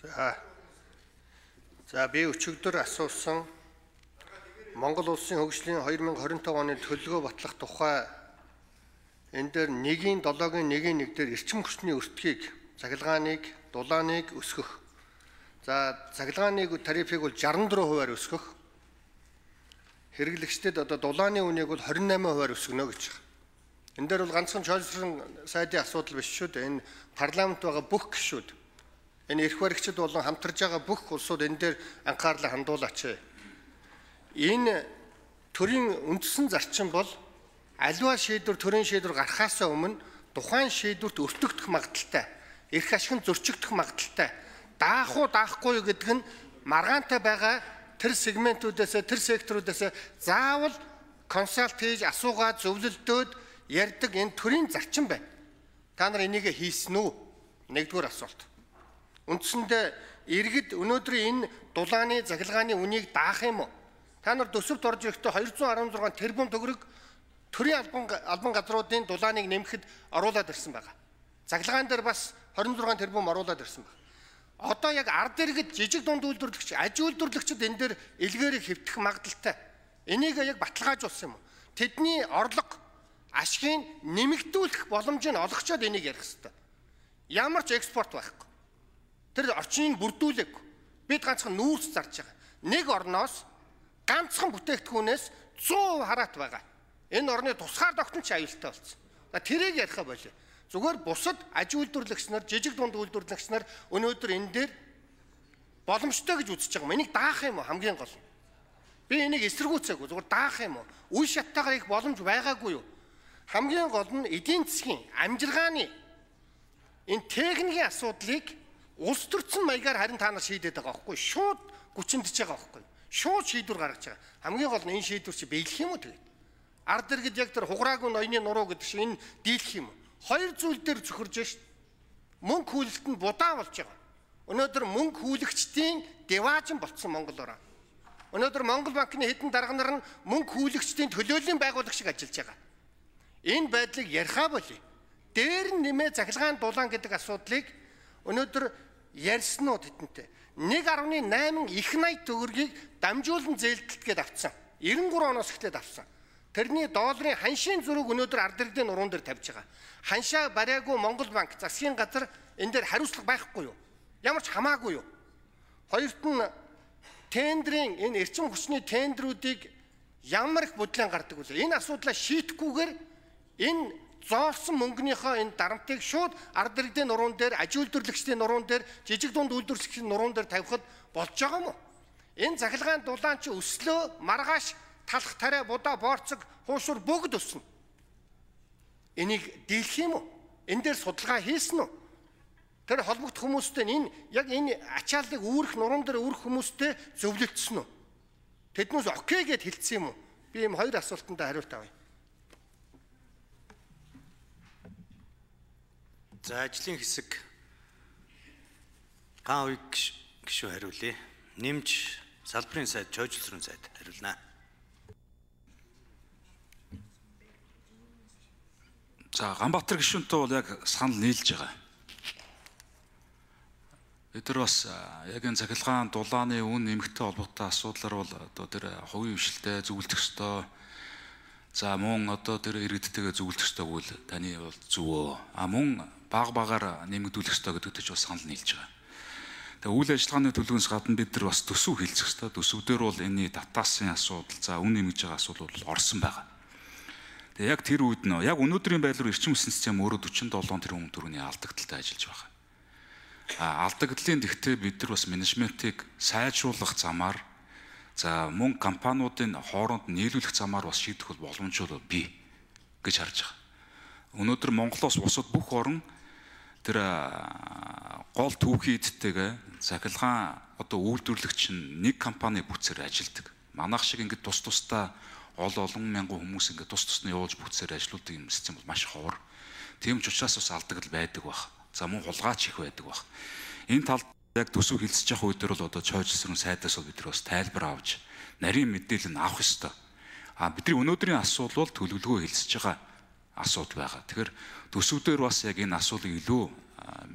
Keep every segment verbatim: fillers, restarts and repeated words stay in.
За. За би өчигдөр асуусан Монгол улсын хөгжлийн two thousand twenty-five оны төлөвлөгөө батлах тухай энэ дээр нэгin долоогийн нэгin нэг дээр эрчим хүчний өртгийг, цахилгааныг, дулааныг өсгөх. За цахилгааны тарифыг бол sixty-four хувиар өсгөх. Хэрэглэгчдэд одоо дулааны үнийг бол twenty-eight хувиар өсгөнө гэж байна. Энэ дээр бол ганцхан чөлөөсөн сайдын асуудал биш шүү дээ. Энэ парламент байгаа бүх гишүүд, энэ эрх баригчид болон хамтарж байгаа бүх улсууд энэ дээр анхаарлаа хандуулаач. Энэ төрийн үндсэн зарчим бол аливаа шийдвэр төрийн шийдвэр гарахаас өмнө тухайн шийдвэрт өртөгдөх магадaltaй, эрх ашиг нь зөрчигдөх магадaltaй, даах уу даахгүй юу гэдэг нь маргаантай байгаа тэр сегментүүдээс, тэр секторуудаас заавал консалт хийж асуугаад зөвлөлдөөд ярьдаг энэ төрийн зарчим байна. Та нар энийг хийсэн үү? Нэгдүгээр асуулт. Үндсэндээ иргэд өнөөдрийн энэ дулааны, захилгааны үнийг даах юм уу? Та нар төсөвт орж ирэхдээ two hundred sixteen тэрбум төгрөг төрийн албан албан газруудын дулааныг нэмэхэд оруулаад ирсэн байгаа. Захилгаан дээр бас twenty-six тэрбум оруулаад ирсэн байна. Одоо яг ард иргэд жижиг дунд үйлдвэрлэгч, аж үйлдвэрлэгчид энэ дээр илгээрийг хэвтэх магадaltaй. Энийг яг баталгаажуулсан юм. Тэдний орлого, ашгийг нэмэгдүүлэх боломжийг олгочоод энийг ярих хэрэгтэй. Ямар ч экспорт байхгүй. Тэр орчныг бүрдүүлээгүй. Бид ганцхан нүүрс зарж байгаа. Нэг орноос ганцхан бүтээгдэхүүнээс one hundred percent хараат байгаа. Энэ орны тусгаар тогтнол ч аюултай болсон. Тэрийг яриха болоо. Зүгээр бусад аж үйлдвэрлэгч нар, жижиг дунд үйлдвэрлэгч нар өнөөдөр энэ дээр боломжтой гэж үзэж байгаа юм. Энийг даах юм уу хамгийн гол нь? Би энийг эсэргүүцээгүй, зүгээр даах юм уу? Үе шаттайгаар их боломж байгаагүй юу? Хамгийн гол нь эдийн засгийн амжиргааны энэ техникийн асуудлыг улс төрчин маягаар харин та нар шийдээд байгаа байхгүй шууд гүчиндж байгаа байхгүй шууд шийдвэр гаргаж байгаа. Хамгийн гол нь энэ шийдвэр чи биелэх юм уу тэгээд ард иргэд яг тэр хуграагүй ноёны нуруу гэдэг шиг энэ дийлэх юм уу? Хоёр зүйл дээр зөвхөрж шít. Мөнгө хүлэлтэнд будаа болж байгаа. Өнөөдөр мөнгө хүлэгчдийн деваажин болцсон Монголоор. Өнөөдөр Монгол банкны хэдэн дарга нар нь мөнгө хүлэгчдийн төлөөллийн байгуулагч шиг ажиллаж байгаа. Энэ байдлыг ярихаа болъё. Дээр нь нэмээ захилгаан дулаан гэдэг асуудлыг өнөөдөр ярьсан уу тэдэнтэй. one point eight их найд төгрөгийг дамжуулан зээлдэлт гээд авцсан. ninety-three оноос эхлээд авсан. Тэрний долларын ханшийн зүрэг өнөөдөр ард иргэдийн нуруунд дээр тавьж байгаа. Ханшаа бариагүй Монгол банк засгийн газар энэ дээр хариуцлага байхгүй юу? Ямар ч хамаагүй юу? Хоёрт нь тендерийн энэ эрчим хүчний тендерүүдийг ямар их бодлон гардаг вэ? Энэ асуудлаа шийдэхгүйгээр энэ зоолсон мөнгөнийхөө энэ дарамтыг шууд ард иргэдийн нуруунд дээр, аж үйлдвэрлэгчдийн нуруунд дээр, жижиг дунд үйлдвэрлэгчдийн нуруунд дээр тавихад болж байгаа юм уу? Энэ захилгаан дулаан чи өслөө, маргааш, талах тариа, будаа, боорцог, хуушур бүгд өснө. Энийг дийлэх юм уу? Энэ дээр судалгаа хийсэн үү? Тэр холбогдох хүмүүстэй энэ яг энэ ачааллыг үүрэх нуруунд дээр үүрэх хүмүүстэй зөвлөлдсөн үү? Тэднээс окей гэд хэлсэн юм уу? Би ийм хоёр асуултанд хариулт авъя. За ажлын хэсэг гаан уяг гишүү хариулъя. Нэмж салбарын сайд, чойжлсрын сайд хариулнаа. За Ганбаатар гишүүнтэй бол яг санал нийлж байгаа. Бид нар бас яг энэ захилгаан дулааны үн нэмэгтэй холбоотой асуудлаар бол одоо тэр хувийн хвшилтэд зөвлөдөх ёстой. За мөн одоо тэр иргэдтэйгээ зөвлөдөх ёстой бол таны бол зөвөө. А мөн баг багаар нэмэгдүүлэх ёстой гэдэгт ч бас санал нийлж байгаа. Тэгээ үйл ажиллагааны төлөвөөс гадна бид нар бас төсөв хэлцэх ёстой. Төсөв дээр бол энэний татаасын асуудал, за үн нэмж байгаа асуудал бол орсон байгаа. Тэгээ яг тэр үед нөө яг өнөөдрийн байдлаар эрчим хүчний систем өөрөө forty-seven тэрбум төгрөгийн алдагдaltaй ажиллаж байгаа. А алдагдлын тэгтээ бид нар бас менежментийг сайжруулах замаар за мөн компаниудын хооронд нийлүүлэх замаар бас шийдэх бол боломжтой бий гэж харж байгаа. Өнөөдөр Монголоос бусад бүх орн тэр гол түүхий эдтэйгээ захилгаан одоо үйлдвэрлэгч нь нэг компани бүтцээр ажилладаг. Манайх шиг ингээд тус тусдаа ол олон мянган хүмүүс ингээд тус тусны явуулж бүтцээр ажилладаг юм систем бол маш ховор. Тийм ч учраас бас алдагдал байдаг баг. За мөн хулгайч их байдаг баг. Энэ талд яг төсөв хэлцэж явах үедэр бол одоо чойжлсрын сайдаас бид нар бас тайлбар авч нарийн мэдээлэл нь авах ёстой. А бидний өнөөдрийн асуудал бол төлөвлөгөө хэлцэж байгаа асуудал байгаа. Тэгэхээр төсөв дээр бас яг энэ асуудлыг илүү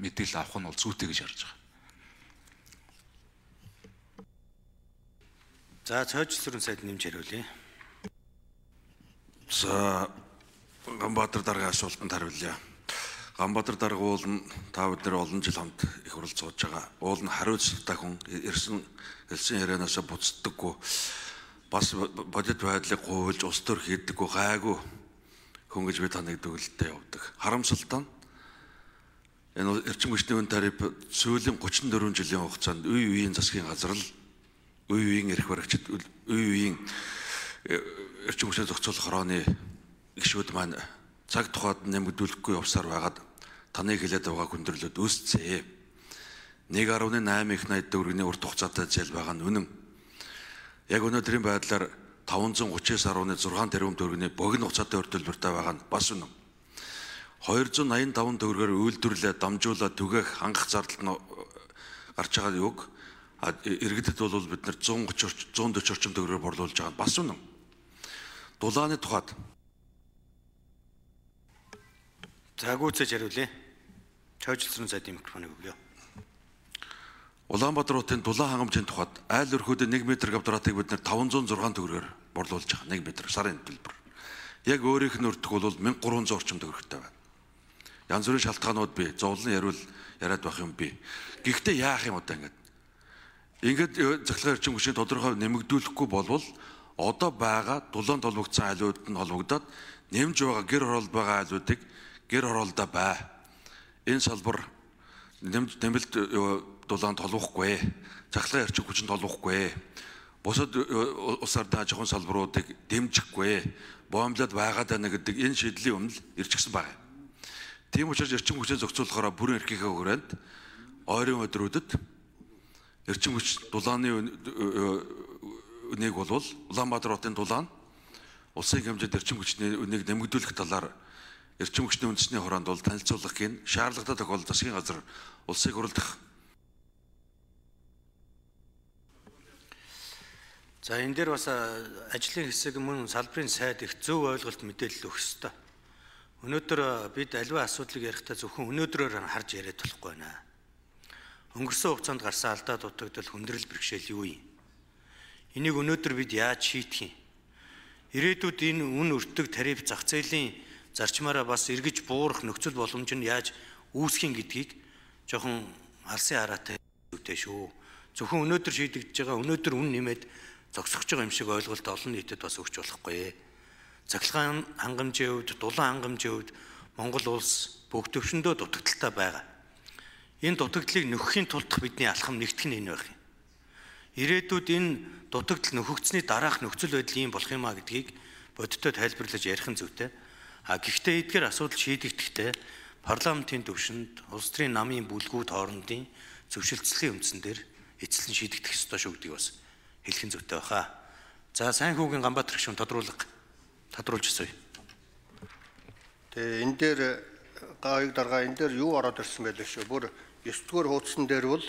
мэдээлэл авах нь бол зүйтэй гэж харж байгаа. За цоожлсрын сайд нэмж хариулъя. За Ганбаатар даргын асуултанд хариулъя. Ганбаатар дарга уул нь та бид нар олон жил хамт их хурал сууж байгаа. Уул нь хариуцлагатай хүн, ирсэн хэлсэн ярианаас буцдаггүй. Бас бодит байдлыг гуйлж ус төр хийдэггүй, гайгүй хүн гэж би таныг дүгэлдээ явдаг. Харамсалтай нь энэ эрчим хүчний үн тариф сүүлийн гучин дөрвөн жилийн хугацаанд үе үеийн засгийн газар л үе үеийн эрх баригчид, үе үеийн эрчим хүчний зохицуулах хорооны гишүүд маань цаг тухайд нэмэгдүүлэхгүй явсаар байгаад таныг хэлээд байгаа хүндрэлүүд үүсцээ. нэг гаруй найман их найд төгрөгийн урт хугацаатай зээл байгаа нь үнэн. Яг өнөөдрийн байдлаар таван зуун гучин гаруй зургаан тэрбум төгрөгийн богино хугацаатай өртөлбөртэй байгаа нь бас үнэн. хоёр зуун найман таван төгрөгөөр үйлдвэрлээ дамжуулаад түгээх хангах зардал нь гарч байгаа юг иргэдэд бол бид нар зуун гучин зуун дөрвөн орчим төгрөгөөр борлуулж байгаа нь бас үнэн. Дулааны тухайд За гүйцэж хариулъя. Цоожлсрын сайдын микрофоныг өгье. Улаанбаатар хотын дулаан хангамжийн тухайд айл өрхөөд нэг метр квадратыг бид нар таван зуун зургаан төгрөгөөр борлуулж байгаа. нэг метр сарын төлбөр. Яг өөрийнх нь өртөх бол мянга гурван зуун орчим төгрөгтэй байна. Янз бүрийн шалтгаанууд бий. Зовлон яриул яриад байх юм бий. Гэхдээ яах юм одоо ингэж. Ингээд захлагын эрчим хүчний тодорхой нэмэгдүүлэхгүй болвол одоо байгаа дулаан толбогдсон айлууд нь холбогдоод нэмж байгаа гэр хороолд байгаа айлуудыг гэр хороолдоо бай. Энэ салбар нэмэлт дулаан толбохгүй, захлагын эрчим хүчинд толбохгүй, бусад улс ардын аж ахуйн салбаруудыг дэмжихгүй, боомлоод байгаад байна гэдэг энэ шийдлийн өмнө ирж гисэн байна. Тийм учраас эрчим хүчээ зохицуулахаараа бүрэн эрхийнхээ хүрээнд ойрын өдрүүдэд эрчим хүч дулааны үнийг болвол Улаанбаатар хотын дулаан улсын хэмжээнд эрчим хүчний үнийг нэмэгдүүлэх талаар эрчим хүчний үндэсний хороонд бол танилцуулах гин шаардлагатай тохиолдолд засгийн газар улсыг хурлдах. За энэ дээр бас ажлын хэсэг мөн салбарын сайд их зөв ойлголт мэдээлэл өгөх ёстой. Өнөөдөр бид аливаа асуудлыг ярихдаа зөвхөн өнөөдрөөр харж яриад болохгүй байна. Өнгөрсөн хугацаанд гарсан алдаа дутагдал хүндрэл бэрхшээл юу юм? Энийг өнөөдөр бид яаж шийдэх юм? Ирээдүйд энэ үн өртөг тариф зах зээлийн зарчмаараа бас эргэж буурах нөхцөл боломж нь яаж үүсэх юм гэдгийг жоохон алсын хараатай үүтэй шүү. Зөвхөн өнөөдөр шийдэгдэж байгаа өнөөдөр үн нэмээд зогсохж байгаа юм шиг ойлголт олон нийтэд бас өгч болохгүй. Цахилгаан хангамжийн хувьд, дулаан хангамжийн хувьд Монгол улс бүх төвшөндөө дутагдaltaй байгаа. Энэ дутагдлыг нөхөхийн тулд бидний алхам нэгтгэх нь энэ байх юм. Ирээдүйд энэ дутагдал нөхөгдсөний дараах нөхцөл байдал ийм болох юм а гэдгийг бодиттой тайлбарлаж ярих нь зүйтэй. А гэхдээ эдгээр асуудал шийдэгдэхдээ парламентын төвшөнд улс төрийн намын бүлгүүд хоорондын зөвшөлтсөлийн үндсэн дээр эцэслэн шийдэгдэх ёстой шүү гэдгийг бас хэлэх нь зүйтэй баха. За сайн хүүгийн Ганбаатар гишүүн тодруулга тодруулж өсөе. Тэгээ энэ дээр гаыг дарга энэ дээр юу ороод ирсэн байлээ шүү. Бүр ёс зүйн хуудсан дээр бол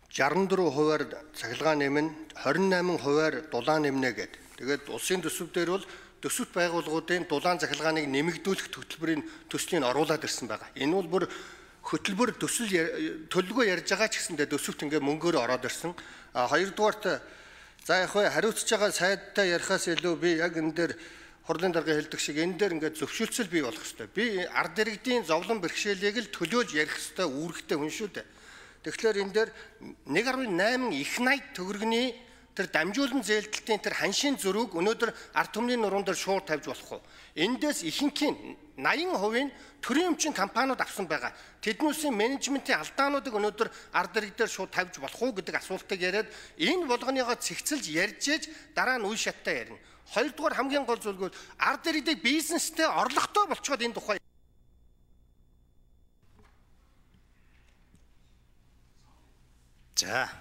шестьдесят дөрвөн хувиар цахилгаан нэмнэ, двадцать восемь хувиар дулаан нэмнэ гэдэг. Тэгээд улсын төсөв дээр бол төсөвт байгууллагуудын дулаан захилгааныг нэмэгдүүлэх хөтөлбөрийн төслийн оруулаад ирсэн байгаа. Энэ бол бүр хөтөлбөр төсөл төлөвлөгөө ярьж байгаа ч гэсэндээ төсөвт ингээ мөнгөөр ороод ирсэн. А хоёрдугаарт за яг хариуцж байгаа сайдтай ярихаас илүү би яг энэ дээр хурлын дарга хэлдэг шиг энэ дээр ингээд зөвшөөрлөл бий болох хэрэгтэй. Би ард иргэдийн зовлон бэрхшээлийг л төлөөж ярих хэрэгтэй үүрэгтэй хүн шүү дээ. Тэгэхээр энэ дээр нэг гаруй найман их найд төгрөгний тэр дамжуулан зээлдэлтийн тэр ханшийн зөрүүг өнөөдөр ард түмний нуруунд дээр шууд тавьж болох уу? Эндээс ихэнхийн восемьдесят хувийн төрийн өмчийн компаниуд авсан байгаа. Тэднүүсийн менежментийн алдаануудыг өнөөдөр ард иргэд дээр шууд тавьж болох уу гэдэг асуултыг яриад энэ болгоныгоо цэгцэлж ярьж ээж дараа нь үе шаттай ярина. Хоёрдугаар хамгийн гол зүйл бол ард иргэдийг бизнестэй орлоготой болчиход энэ тухай За